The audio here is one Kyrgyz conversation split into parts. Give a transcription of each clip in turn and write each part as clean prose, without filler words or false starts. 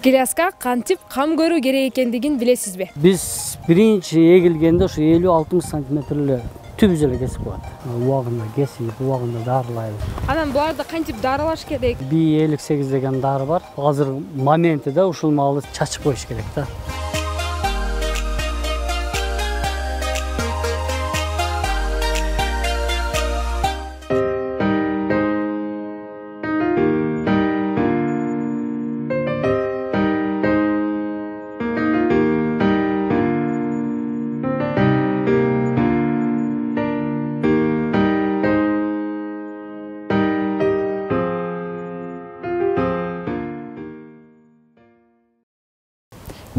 Гиляска кантип кам көрүү керек экендигин билесизби? Биз биринчи эгилгенде ушу 50-60 сантиметрле түбүз эле кесип коет. Убагында кесип, убагында дарылайбыз. Анан буларды кантип дарылаш керек? B58 деген дары бар. Азыр моментиде ушул маалы чачып коюш керек да.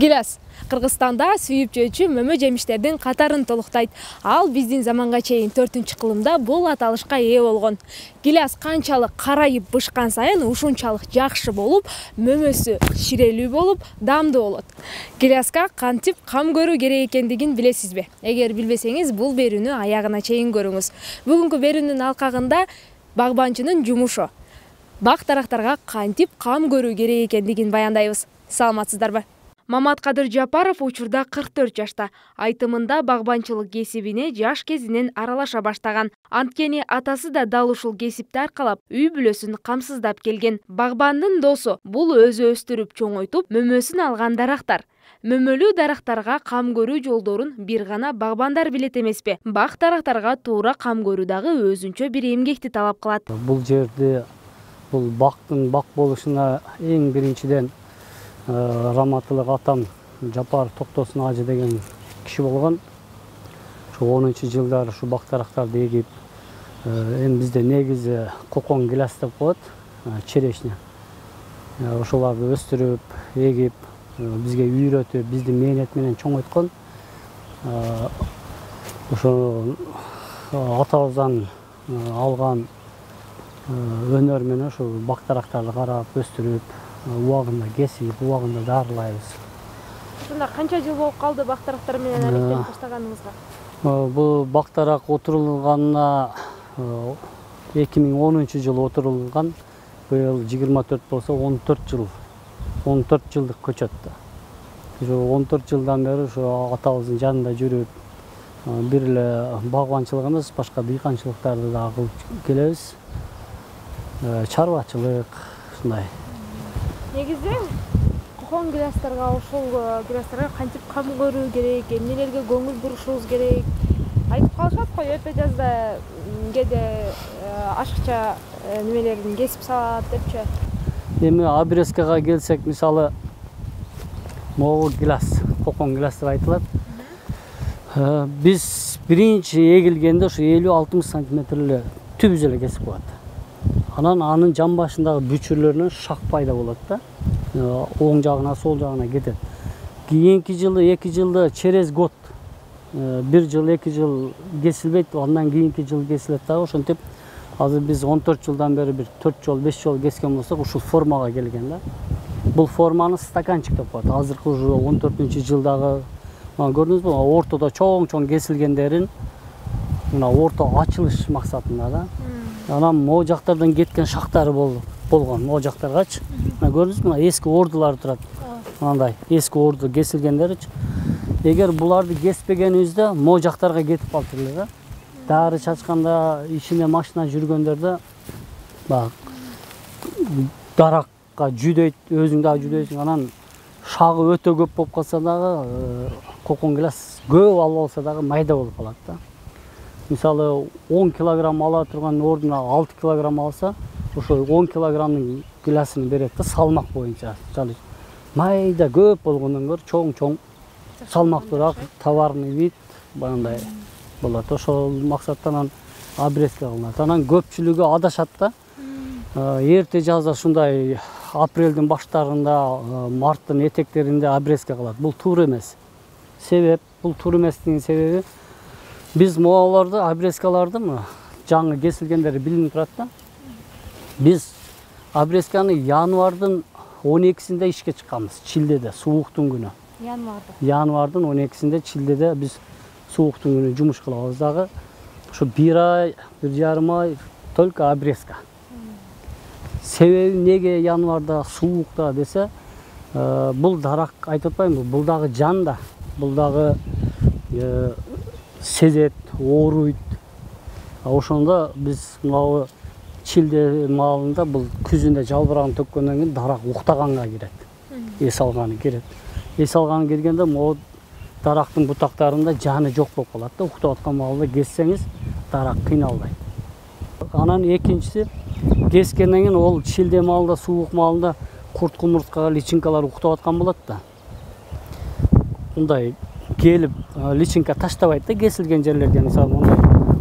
Гиляс Кыргызстанда сүйүп жөөчү мөмө жемиштердин катарын толуктайт. Ал биздин заманга чейин 4-кылымда бул аталышка ээ болгон. Гиляс канчалык карайып бышкан сайын ушунчалык жакшы болуп, мөмөсү ширелүү болуп, даамдуу болот. Гиляска кантип кам көрүү керек экендигин билесизби? Эгер билбесеңиз, бул берүүнү аягына чейин көрүңүз. Бүгүнкү берүүнүн алкагында багбанчынын жумушу. Бак дарактарга кантип кам көрүү керек экендигин баяндайбыз. Саламатсыздарбы? Маматкадыр Жапаров учурда 44 жашта. Айтымында багбанчылык кесибине жаш кезинен аралаша баштаган. Анткени атасы да дал ушул кесипти аркалап, үй бүлөсүн камсыздап келген. Багбандын досу бул өзү өстүрүп чоңойтуп, мөмөсүн алган дарактар. Мөмөлүү дарактарга кам көрүү жолдорун бир гана багбандар билет эмеспи? Бак дарактарга туура кам көрүү дагы өзүнчө бир эмгекти талап кылат. Бул жерде бул бактын бак болушуна эң биринчиден раматылык атам Жапаров Токтосун ажы деген киши болгон. Ушу 10-жылдары ушу бак дарактарды эгип, эми бизде негизи кокон гиляс деп коет, черешня. Ошоларды өстүрүп, эгип, бизге үйрөтүп, биздин мээнет менен чоңойткон. Ошо атабыздан алган өнөр менен ушу бак дарактарды карап, өстүрүп, убагында кесип, убагында дарылайбыз. Ушунда канча жыл болуп калды бак дарактар менен алектенип баштаганыңызга? Бул бак дарак отурулганына 2010-жылы отурулган. Быйыл 24 болсо 14 жыл. 14 жылдык көчөт да. Ушу 14 жылдан бери ушу атабыздын жанында жүрүп, бир эле багбанчылык эмес, башка дыйканчылыктарды да кылып келебиз. Чарбачылык ушундай. Негизи кокон гилястарга, ушул гилястарга кантип кам көрүү керек, эмнелерге көңүл бурушубуз керек? Айтып калышат го, эпе жазда кээде ашыкча немелерин кесип салат депчи. Эми обрезкага келсек, мисалы, могу гиляс, кокон гиляс деп айтылат. Биз биринчи эгилгенде ушу 50-60 сантиметрле түбүз эле кесип коет. Анан анын жан башындагы бүчүрлөрүнөн шак пайда болот да. Оң жагына, сол жагына кетет. Кийинки жылы, 2 жылда через год, 1 жыл, 2 жыл кесилбейт, андан кийинки жыл кесилет дагы. Ошентип, азыр биз 14 жылдан бери бир 4 жол, 5 жол кескен болсок, ушул формага келген да. Бул форманы стаканчик деп коет. Азыркы уже 14-жылдагы, көрдүңүзбү, ортодо чоң-чоң кесилгендерин мына орто ачылыш максатында да. Анан могу жактардан кеткен шактары болгон, могу жактаргачы. Көрдүңүзбү, мына эски ордулар турат. Мындай эски орду кесилгендеричи. Эгер буларды кеспегенибизде могу жактарга кетип калды эле да. Дары чачканда, ичинде машина жүргөндөрдө бак даракка жүдөйт, өзүң дагы жүдөйсүң. Анан шагы өтө көп болуп калса дагы, кокон гиляс көп албаса дагы майда болуп калат да. Мисалы 10 килограмм ала турган ордуна 6 килограмм алса, ошо 10 килограммдын гилясын берет да, салмак боюнча. Майда көп болгондон көрө чоң-чоң салмактуураак товарный вид баягындай болот. Ошол максаттан обрезка кылынат. Анан көпчүлүгү адашат да. Эрте жазда ушундай апрелдин баштарында, марттын этектеринде обрезка кылат. Бул туура эмес. Себеп, бул туура эместигинин себеби, биз могуларды, обрезкаларды жаңы кесилгендери билинип турат да. Биз обрезканы январдын 12-синде ишке чыкканбыз, Чилдеде, сууктун күнү. Январдын 12-синде Чилдеде биз сууктун күнү жумуш кылабыз дагы. Ушу 1 ай, 1,5 ай только обрезка. Себеби неге январда суукта десе, Бул дарак айтып атпаймынбы, бул дагы жан да, бул дагы сезет, ооруйт. Ошондо биз мынау чилде маалында бул күзүндө жалбырагын төккөндөн кийин дарак уктаганга кирет. Эс алганы кирет. Эс алганы киргенде могу дарактын бутактарында жаны жок болуп калат да. Уктап аткан маалда кессеңиз дарак кыйналбайт. Анан экинчиси кескенден кийин ол чилде маалда, суук маалында курт кумурскага личинкалар уктап аткан болот да. Мындай келип личинка таштабайт да кесилген жерлерге, мисалы мондай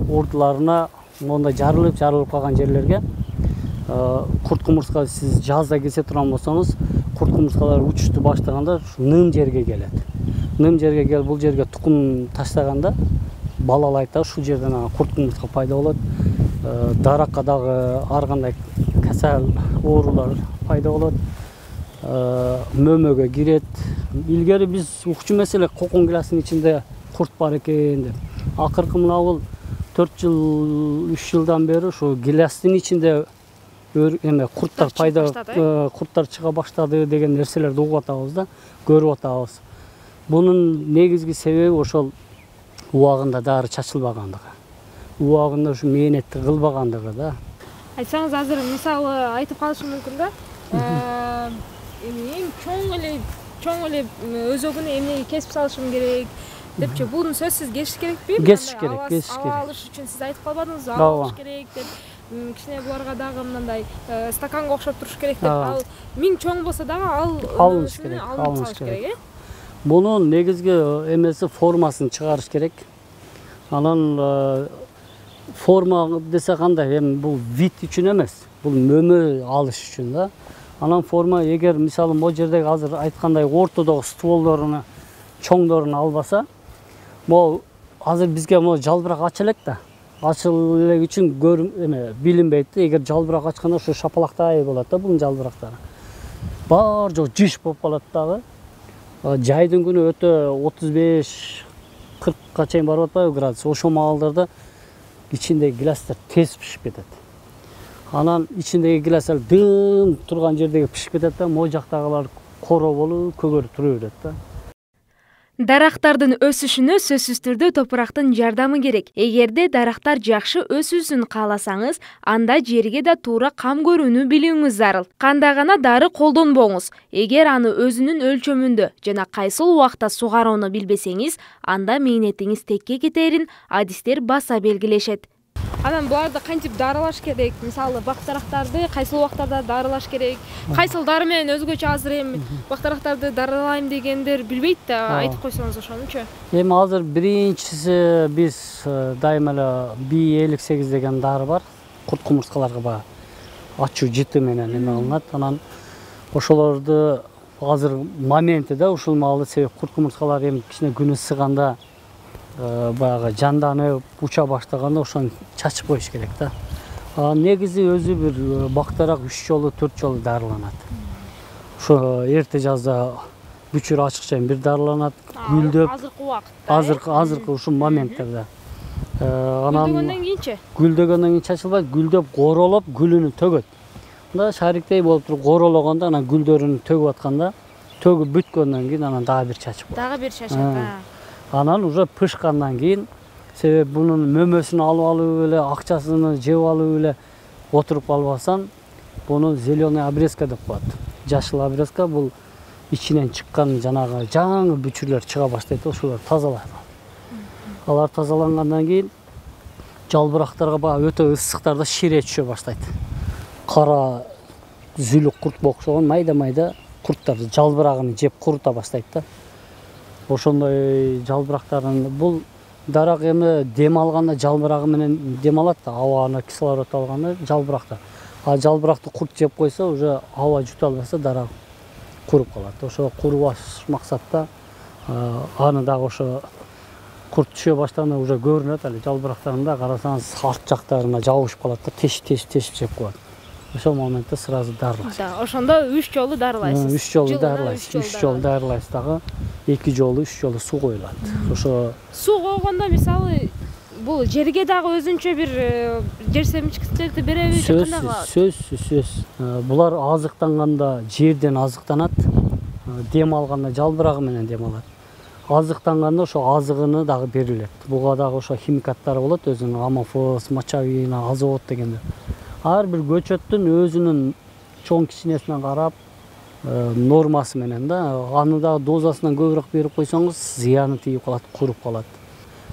ордуларына мондай жарылып калган жерлерге курт кумурска сиз жазда кесе турган болсоңуз, курт кумурскалар учушту баштаганда ным жерге келет. Ным жерге келип бул жерге тукум таштаганда балалайт да, ушул жерден курт кумурска пайда болот. Даракка дагы ар кандай касал оорулар пайда болот. Мөмөгө кирет. Илгери биз укчу маселе кокон гилясынын ичинде курт бар экен деп. Акыркы мына бул 4 жыл, 3 жылдан бери ушу гилястын ичинде курттар курттар чыга баштады деген нерселерди угуп атабыз да, көрүп атабыз. Бунун негизги себеби ошол убагында дары чачылбагандыгы. Убагында ушу мээнетти кылбагандыгы да. Айтсаңыз, азыр мисалы айтып калышым мүмкүн да. Эми чоң эле өзөгүнө эмнеге кесип салышым керек депчи, буну сөзсүз кесиш керекпи? Кесиш керек, кесиш керек. Ава алыш үчүн сиз айтып калбадыңызбы? Ава алыш керек деп. Кичине буларга дагы мындай стаканга окшоп туруш керек деп. Ал миң чоң болсо дагы алыныш керек. Мунун негизги эмеси формасын чыгарыш керек. Анан форма десе кандай, эми бул вид үчүн эмес, бул мөмө алыш үчүн да. Анан форма эгер мисалы могу жердеги азыр айткандай ортодогу стволдоруну чоңдорун албаса, могу азыр бизге могу жалбырак ача элек да. Ачыл элек үчүн билинбейт да. Эгер жалбырак ачканда ушу шапалактай болот да бунун жалбырактары. Бар жок жиш болуп калат дагы. Жайдын күнү өтө 35-40ка чейин барып атпайбы градус. Ошол маалдарда ичиндеги гилястар тез пишип кетет. Анан ичиндеги гилястар дым турган жердеги пишип кетет да, могу жактагылар коро болуп, көгөрүп тура берет да. Дарактардын өсүшүнө сөзсүз түрдө топурактын жардамы керек. Эгерде дарактар жакшы өсүүсүн кааласаңыз, анда жерге да туура кам көрүүнү билүүңүз зарыл. Кандай гана дары колдонбоңуз. Эгер аны өзүнүн өлчөмүндө жана кайсыл убакта сугарууну билбесеңиз, анда мээнетиңиз текке кетерин адистер баса белгилешет. Анан буларды кантип дарылаш керек? Мисалы бактарактарды кайсыл убактарда дарылаш керек? Кайсыл дары менен өзгөчө азыр эми бактарактарды дарылайм дегендер билбейт да, айтып койсоңуз ошонучу. Эми азыр биринчиси биз дайыма эле B58 деген дары бар. Курт кумурскаларга баягы ачуу жыты менен эме алынат. Анан ошолорду азыр моменти да ушул маалда себеп курт кумурскалар эми кичине күн ысыганда баягы жанданып уча баштаганда ошону чачып коюш керек да. Негизи өзү бир бактарак 3 жолу 4 жолу дарыланат. Ошо эрте жазда бүчүр ачык чейин бир дарыланат, гүлдөп. Азыркы убакытта. Азыркы ушул моменттерде. Анан гүлдөгөндөн кийинчи? Гүлдөгөндөн кийин чачылбайт, гүлдөп королоп, гүлүнү төгөт. Мында шариктей болуп туруп корологондо анан гүлдөрүн төгүп атканда, төгүп бүткөндөн кийин анан дагы бир чачып коет. Дагы бир чачат. Анан уже пышкандан кийин, себеп бунун мөмөсүн алып алып эле, акчасын жеп алып эле отуруп албастан, буну зеленый обрезка деп коет. Жашыл обрезка бул ичинен чыккан жанагы жаңы бүчүрлөр чыга баштайт, ошолор тазалайт. Алар тазалангандан кийин жалбырактарга баягы өтө ысыктарда шире түшө баштайт. Кара зүлүк куртка окшогон майда-майда курттар жалбырагын жеп курута баштайт да. Ошондой жалбырактарын бул дарак эми дем алганда жалбырагы менен дем алат да, абаны кислород алганда жалбыракта. А жалбыракты курт жеп койсо, уже аба жута албаса дарак куруп калат. Ошо курубаш максатта аны дагы ошо курт түшө баштаганда уже көрүнөт эле жалбырактарында, карасаңыз арт жактарына жабышып калат да, тешип жеп коет. Ошол моментте сразу дарылайсыз. Да, ошондо 3 жолу дарылайсыз. 3 жолу дарылайсыз. 3 жолу дарылайсыз дагы. 2 жолу, 3 жолу суу коюлат. Ошо суу койгондо мисалы бул жерге дагы өзүнчө бир жер семичкичтерди береби же кандай кылат? Сөзсүз. Булар азыктанганда жерден азыктанат. дем алганда жалбырагы менен дем алат. Азыктанганда ошо азыгыны дагы берилет. Буга дагы ошо химикаттары болот, өзүнүн амофос, мочавина, азот дегендер. Ар бир көчөттүн өзүнүн чоң кичинесине карап нормасы менен да, аны дагы дозасынан көбүрөөк берип койсоңуз зыяны тийип калат, куруп калат.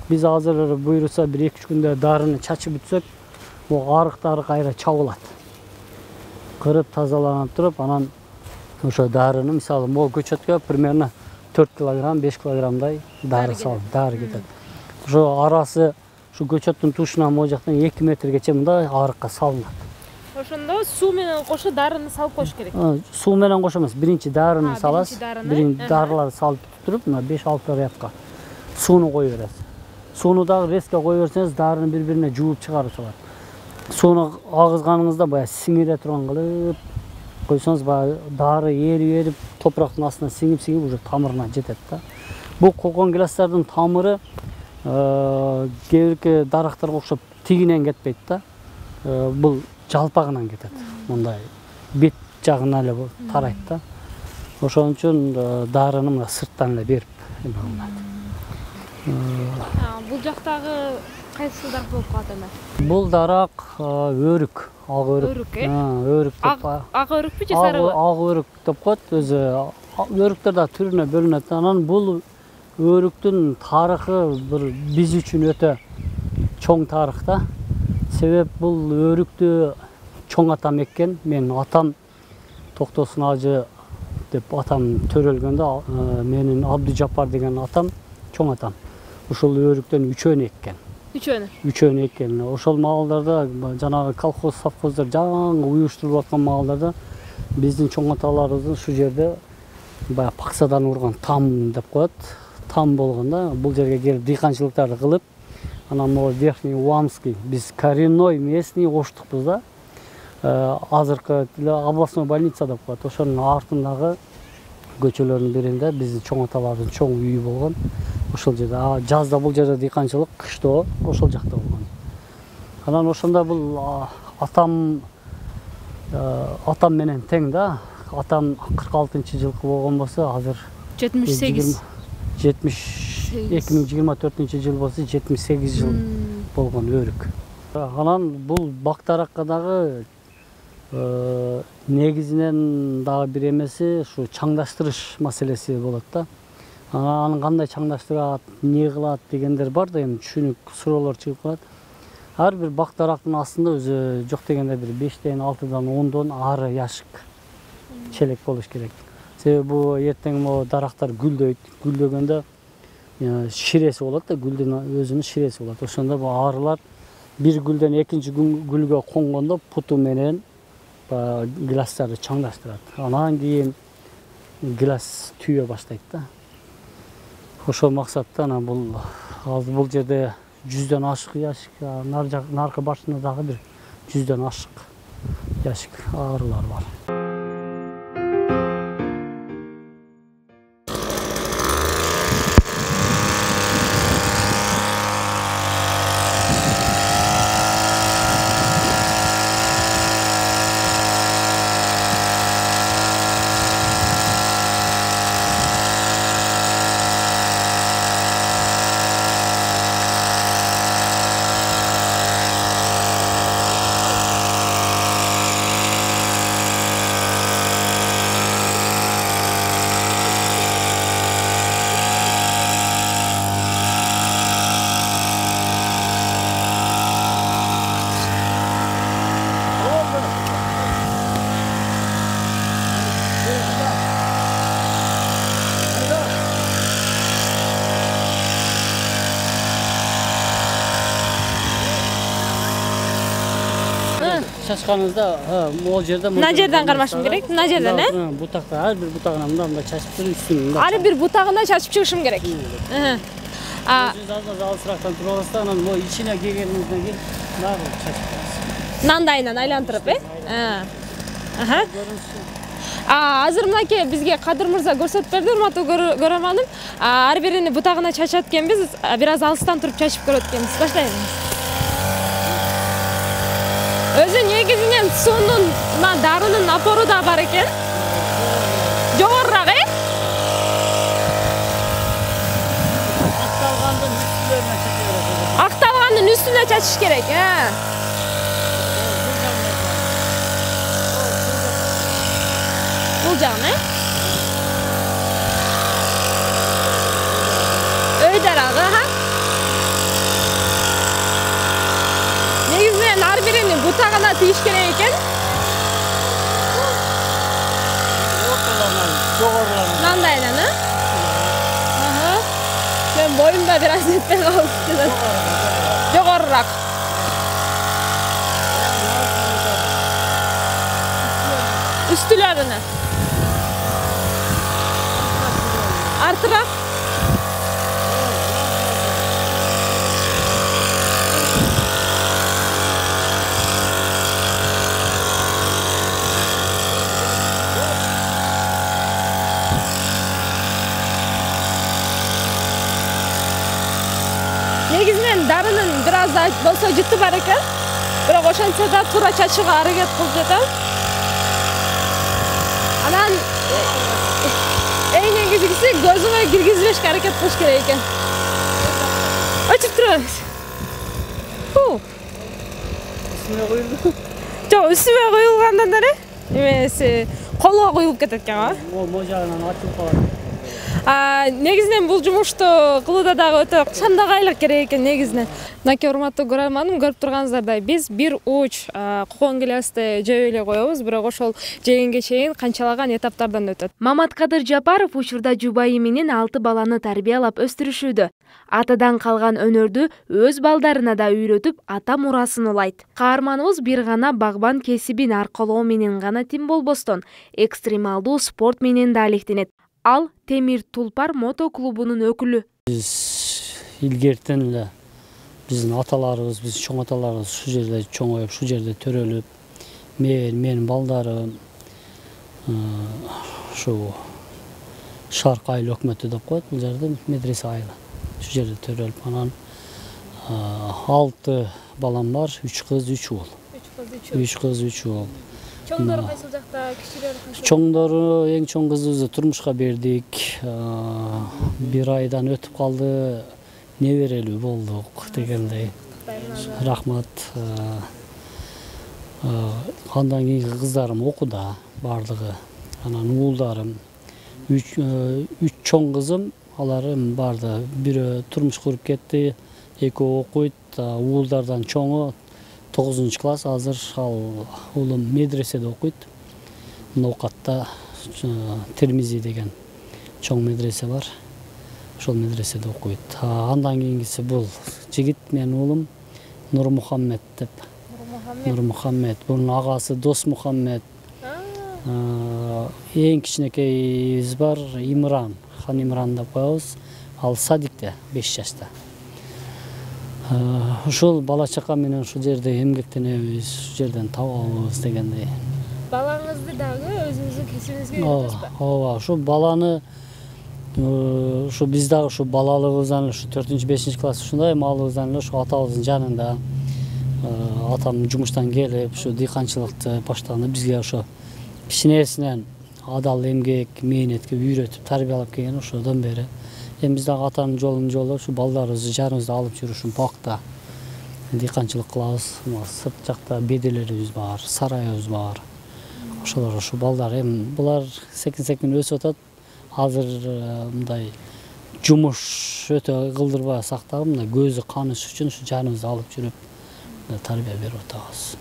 Биз азыр буйруса 1-2 күндө дарыны чачып бүтсөк, бул арыктары кайра чабылат. Кырып тазаланып туруп, анан ошо дарыны мисалы могу көчөткө примерно 4 килограмм, 5 килограммдай дары салып, дары кетет. Ошо арасы ушу көчөттүн тушунан могу жактан 2 метргече мындай арыкка салынат. Ошондо суу менен кошо дарыны салып коюш керек. Суу менен кошо эмес, биринчи дарыны саласыз. Биринчи дарыларды салып туруп, мына 5-6 рядка сууну кое бересиз. Сууну дагы резко кое берсеңиз, дарыны бири-бирине жууп чыгарып салат. Сууну агызганыңызда баягы сиңире турган кылып койсоңуз, баягы дары эрип топурактын астына сиңип уже тамырына жетет да. Бул кокон гилястардын тамыры кээ-бирки дарактарга окшоп тигинен кетпейт да. Бул жалпагынан кетет. Мындай бет жагына эле тарайт да. Ошон үчүн дарыны мына сырттан эле берип алынат. Бул жактагы кайсы дарак болуп калат эми? Бул дарак өрүк, ак өрүк. Өрүк, Өрүк деп. Ак өрүкпү же сары? Ак өрүк деп коет. Өзү өрүктөр да түрүнө бөлүнөт. Анан бул өрүктүн тарыхы биз үчүн өтө чоң тарых да. Себеп бул өрүктү чоң атам эккен. Менин атам Токтосун ажы деп атам төрөлгөндө, менин Абдужапар деген атам, чоң атам. Ошол өрүктөн үчөөнү эккен. Үчөөнү эккен. Ошол маалдарда жанагы колхоз, совхоздар жаңы уюштуруп аткан маалдарда биздин чоң аталарыбыз ушул жерде баягы паксадан урган там деп коет. Там болгондо бул жерге келип дыйканчылыктарды кылып, анан могу Верхний Уамский, биз коренной местный оштукпуз да. Азыркы областной больница деп коет. Ошонун артындагы көчөлөрдүн биринде биздин чоң аталардын чоң үйү болгон. Ошол жерде жазда бул жерде дыйканчылык, кышта ошол жакта болгон. Анан ошондо бул атам менен тең да. Атам 46-жылкы болгон болсо, азыр 78. 2024 болсо 78 жыл болгон өрүк. Анан бул бактаракка дагы негизинен дагы бир эмеси ушу чаңдаштырыш маселеси болот да. Анан кандай чаңдаштырат, эмне кылат дегендер бар да, эми түшүнүк суроолор чыгып калат. Ар бир бактарактын астында өзү жок дегенде бир 5-тен, 6-дан, 10-дон ары яшык челек болуш керек. Себеби бул эртең могу дарактар гүлдөйт. Гүлдөгөндө ширеси болот да, гүлдүн өзүнүн ширеси болот. Ошондо бул арылар бир гүлдөн экинчи гүлгө конгондо путу менен гилястарды чаңдаштырат. Анан кийин гиляс түйө баштайт да. Ошол максатта анан бул жерде 100дөн ашык яшик, наркы башында дагы бир 100дөн ашык яшик арылар бар. Чачканыңызда могул жерде мына жерден кармашым керек, мына жерден, бутакта ар бир бутагына мындай чачып туруп үстүнөн. Ар бир бутагына чачып чыгышым керек. Сиз алысыраактан туруп аласыз, анан могу ичине келгениңизден кийин дагы чачып турасыз. Мындайынан айлантырып, Азыр мынакей бизге Кадыр мырза көрсөтүп берди, урматтуу көрөрманым. Ар бирини бутагына чачат экенбиз, бир аз алыстан туруп чачып көрөт экенбиз. Баштайлыбыз. Өзү негизинен суунун, дарынын напору да бар экен. Жогорураак, Тура чачыш керек, Бул жагын, Өй дарагы, Негизинен ар бирини бутагына тийиш керек экен. Мындайдан, Мен боюмда бир аз жетпей калып. Жогорураак. Үстүлөрүнө. Артыраак. Негизинен дарынын бир аз болсо жыты бар экен. Бирок ошентсе да туура чачууга аракет кылып жатам. Анан эң негизгиси көзүңө киргизбешке аракет кылыш керек экен. Өчүп турабыз. Үстүнө коюлду. Жок, үстүмө коюлгандан эле эмеси колго коюлуп кетет экен, Могу жагынан ачылып калат. Негизинен бул жумушту кылууда дагы өтө чамдагайлык керек экен негизинен. Мынакей урматтуу көрөрманым, көрүп турганыңыздардай биз бир уч кокон гилясты жеп эле коебуз, бирок ошол жегенге чейин канчалаган этаптардан өтөт. Маматкадыр Жапаров учурда жубайы менен 6 баланы тарбиялап өстүрүшүүдө. Атадан калган өнөрдү өз балдарына да үйрөтүп, ата мурасын улайт. Каарманыбыз бир гана багбан кесибин аркалоо менен гана тим болбостон, экстремалдуу спорт менен да алектенет. Ал Темир Тулпар мотоклубунун өкүлү. Биз илгертен эле биздин аталарыбыз, биздин чоң аталарыбыз ушул жерде чоңоюп, ушул жерде төрөлүп, менин балдарым ушу Шарк айыл өкмөтү деп коет, бул жерде медресе айылы. Ушул жерде төрөлүп, анан 6 балам бар, 3 кыз, 3 уул. 3 кыз, 3 уул. Чоңдору кайсыл жакта, кичилери кайсыл? Чоңдору эң чоң кызыбызды турмушка бердик. Бир айдан өтүп калды, неберелүү болдук дегендей. Рахмат. Андан кийинки кыздарым окууда баардыгы. Анан уулдарым 3 чоң кызым, аларым барды. Бирөө турмуш куруп кетти, экөө окуйт. Уулдардан чоңу 9-класс, азыр ал уулум медреседе окуйт. Ноокатта Термизи деген чоң медресе бар. Ошол медреседе окуйт. Андан кийинкиси бул жигит, менин уулум Нурмухаммед деп. Нурмухаммед. Бунун агасы Досмухаммед. Эң кичинекейибиз бар, Имран, Хан Имран деп коебуз. Ал садикте 5 жашта. Ушул бала чака менен ушул жерде эмгектенебиз, ушул жерден табабыз дегендей. Балаңызды дагы өзүңүздүн кесибиңизге үйрөтөсүзбү? Ооба, ушул баланы ушу биз дагы ушу балалыгыбыздан ушу 4-5 класс ушундай маалыбыздан эле ушу атабыздын жанында атам жумуштан келип ушу дыйканчылыкты баштаганда бизге ошо кичинесинен адал эмгек, мээнетке үйрөтүп тарбиялап келген ошодон бери. Эми биз дагы атанын жолун жолдоп ушу балдарыбызды жаныбызда алып жүрүп ушу бакта дыйканчылык кылабыз. Сырт жакта беделерибиз бар, сарайыбыз бар. Ошолор ушу балдар эми булар секин өсүп атат. Азыр мындай жумуш өтө кылдырбасак дагы мындай көзү каныш үчүн ушу жаныбызда алып жүрүп тарбия берип атабыз.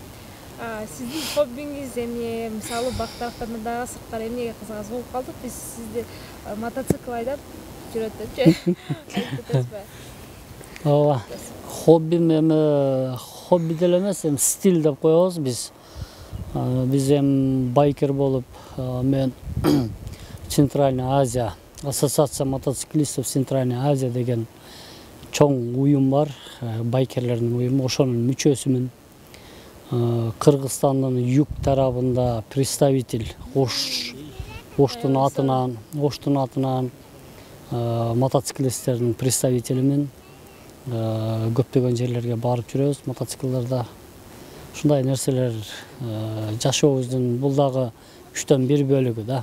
Сиздин хоббиңиз эмне? Мисалы бак тараптарында дагы сырткары эмнеге кызыгасыз? Болуп калдык биз сизди мотоцикл айдап жүрөтөчү. Айтып кетпе. Ооба. Хоббим эми хобби деле эмес, эми стиль деп коебуз биз. Биз эми байкер болуп, мен Центральная Азия, Ассоциация мотоциклистов Центральная Азия деген чоң уюм бар, байкерлердин уюму, ошонун мүчөсүмүн. Кыргызстандын юг тарабында представитель Оштун атынан мотоциклисттердин представителимин. Көптөгөн жерлерге барып жүрөбүз мотоциклдарда. Ушундай нерселер жашообуздун бул дагы 3-1 бөлүгү да.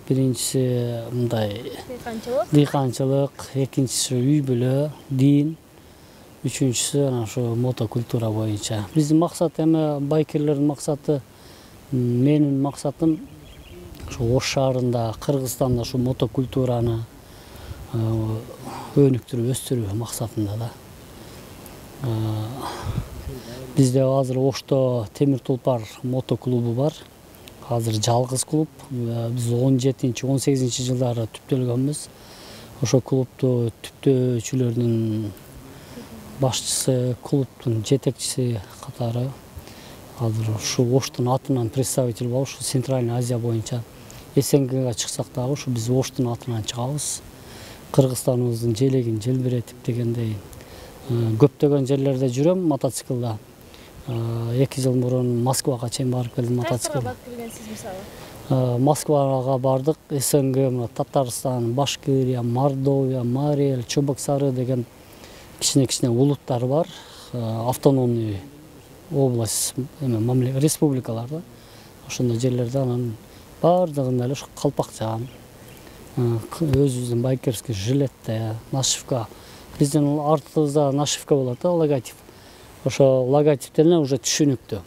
Биринчиси мындай дыйканчылык, экинчиси үй бүлө, дин, үчүнчүсү анан ушу мотокультура боюнча. Биздин максат эми байкерлердин максаты, менин максатым ушу Ош шаарында, Кыргызстанда ушу мотокультураны өнүктүрүп өстүрүү максатында да. Бизде азыр Ошто Темир Тулпар мотоклубу бар. Азыр жалгыз клуб. Биз 17-18 жылдары түптөлгөнбүз. Ошо клубду түптөөчүлөрдүн башчысы, клубдун жетекчиси катары азыр ушу Оштун атынан представитель болуп, ушу Центральный Азия боюнча СНГга чыксак дагы ушу биз Оштун атынан чыгабыз. Кыргызстаныбыздын желегин желбиретип дегендей көптөгөн жерлерде жүрөм мотоциклда. 2 жыл мурун Москвага чейин барып келдим мотоциклда. Барып келгенсиз мисалы? Москвага бардык. СНГ, Татарстан, Башкирия, Мордовия, Марель, Чебоксары деген кичине улуттар бар. Автономный область, республикаларда. Ошондой жерлерде анан бардыгында эле ушу калпакчан, өзүбүздүн байкерский жилетте, нашивка. Биздин артыбызда нашивка болот да, логотип. Ошо логотиптен уже түшүнүктүү.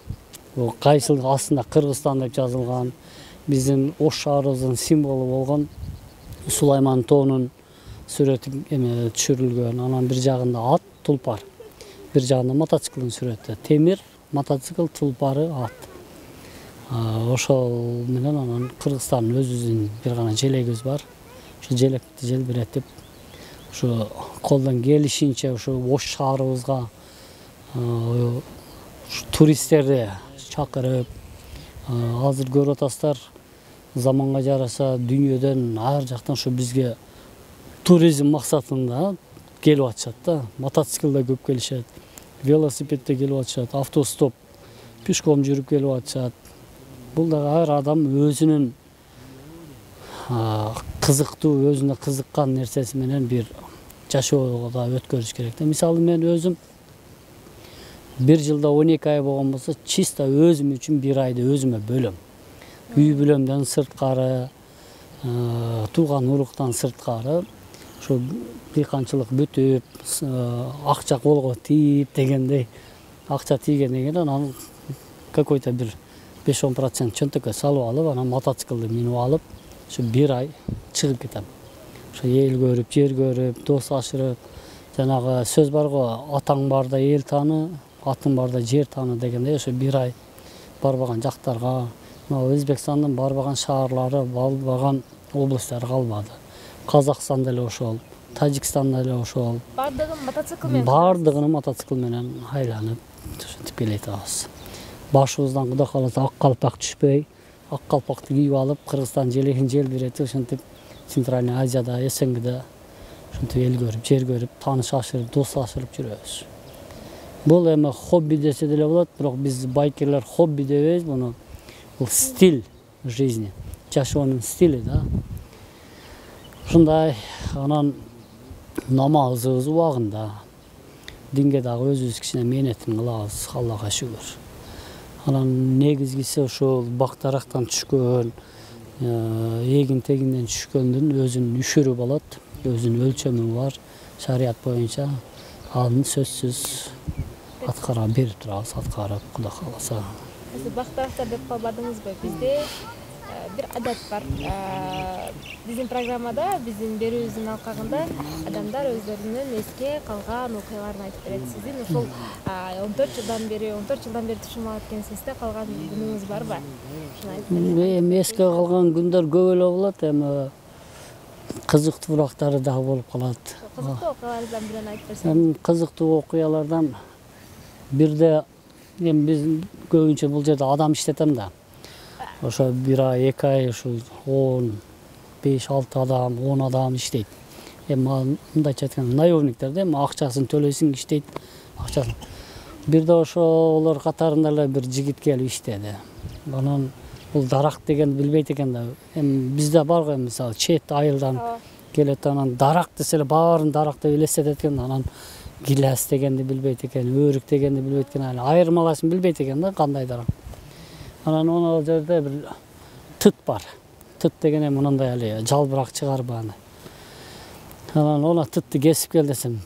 Кайсыл астында Кыргызстан деп жазылган, биздин Ош шаарыбыздын символу болгон Сулайман тоонун сүрөтү түшүрүлгөн. Анан бир жагында ат, тулпар. Бир жагында мотоциклдин сүрөтү. Темир, мотоцикл, тулпары, ат. Ошол менен анан Кыргызстандын өзүбүздүн бир гана желегибиз бар. Ошо желекти желбиретип, ушу колдон келишинче ушу Ош шаарыбызга туристтерди чакырып, азыр көрүп атасыздар, заманга жараша дүйнөдөн ар жактан ушу бизге туризм максатында келип атышат да. Мотоциклде көп келишет, велосипедде келип атышат, автостоп, пешком жүрүп келип атышат. Бул дагы ар адам өзүнүн кызыктуу, өзүнө кызыккан нерсеси менен бир жашоого да өткөрүш керек да. Мисалы мен өзүм бир жылда 12 ай болгон болсо, чисто өзүм үчүн бир айды өзүмө бөлөм. Үй бүлөмдөн сырткары, тууган уруктан сырткары, ошо дыйканчылык бүтүп, акча колго тийип дегендей, акча тийгенден кийин анан какой-то бир 5-10% чөнтөккө салып алып, анан мотоциклди минип алып, ошо бир ай чыгып кетем. Ошо эл көрүп, жер көрүп, дос ашырып, жанагы сөз бар го, атаң барда эл тааны, атың барда жер тааны дегендей, ошо бир ай барбаган жактарга, Өзбекстандын барбаган шаарлары, барбаган областтары калбады. Казакстанда эле ошол, Тажикстанда эле ошол. Бардыгын мотоцикл менен? Бардыгын мотоцикл менен айланып, ушинтип келет атабыз. Башыбыздан Кудай кааласа ак калпак түшпөй, ак калпакты кийип алып, Кыргызстан желегин желбиретип, ушинтип Центральный Азияда, СНГда ушинтип эл көрүп, жер көрүп, тааныш ашырып, дос ашырып жүрөбүз. Бул эми хобби десе деле болот, бирок биз байкерлер хобби дебейбиз муну. Бул стиль жизни, жашоонун стили да. Ушундай, анан намазыбыз убагында, динге дагы өзүбүз кичине мээнетин кылабыз, Аллага шүгүр. Анан негизгиси ошол бак-дарактан түшкөн, эгин-тегинден түшкөндүн өзүнүн үшүрү болот, өзүнүн өлчөмү бар, шарият боюнча. Аны сөзсүз аткара берип турабыз, аткарып, Кудай кааласа. Бак-дарактар деп калбадыңызбы? Бизде бир адат бар. Биздин программада, биздин берүүбүздүн алкагында адамдар өздөрүнүн эске калган окуяларын айтып берет. Сиздин ошол 14 жылдан бери тушумалап экенсиз да, калган күнүңүз барбы? Эми эске калган күндөр көп эле болот, эми кызыктуу урактары дагы болуп калат. Кызыктуу окуялардан бирин айтып берсеңиз. Кызыктуу окуялардан бирде эми биз көбүнчө бул жерде адам иштетем да. Ошо бир ай, 2 ай ушу 15-6 адам, 10 адам иштейт. Эми мындайча айтканда наемниктер да, эми акчасын төлөйсүң, иштейт, акчасын. Бирде ошо олор катарында эле бир жигит келип иштеди. Анан бул дарак дегенди билбейт экен да. Эми бизде бар го, мисалы чет айылдан келет, анан дарак десе эле баарын дарак деп элестетет экен, анан гилес дегенди билбейт экен, өрүк дегенди билбейт экен, айырмалашын билбейт экен да, кандай дарак. Анан ал жерде бир тыт бар. Тыт деген эми мындай эле жалбырак чыгарбаны. Анан тытты кесип кел десем,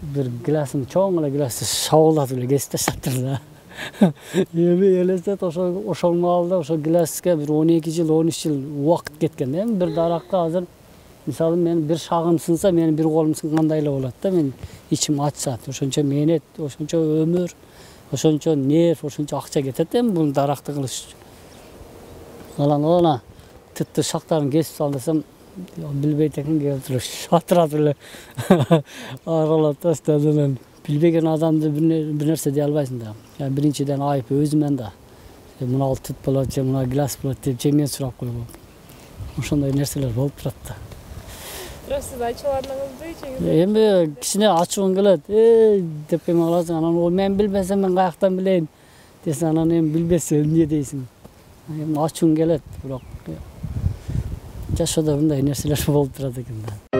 бир гиласын чоң эле гиласты шабуулатып эле кесип таштаптыр да. Эми элестет ошол маалда ошол гиласке бир 12 жыл 13 жыл убакыт кеткен. Эми бир даракка азыр мисалы мен бир шагым сынса, менин бир колум сынгандай эле болот да. Мен ичим ачат, ошончо мээнет, ошончо өмүр, ошончо нерв, ошончо акча кетет эми бул даракты кылыш үчүн. Ана тытты шактарын кесип сал десем, билбейт экен, келип туруп шатыратып эле аралап таштады. Билбеген адамды бир нерсе дей албайсың да. Биринчиден айып өзүмөн да. Мына тыт болот же мына гилас болот деп жеңен сурап койгом. Ошондой нерселер болуп турат да. Бирок сиз ачууланыңызбы? Эми кичине ачууң келет. Деп эме каласың, анан ол мен билбесем мен каяктан билейин десең, анан эми билбесең эмне дейсиң? Эми ачууң келет, бирок жашоодо мындай нерселер болуп турат экен да.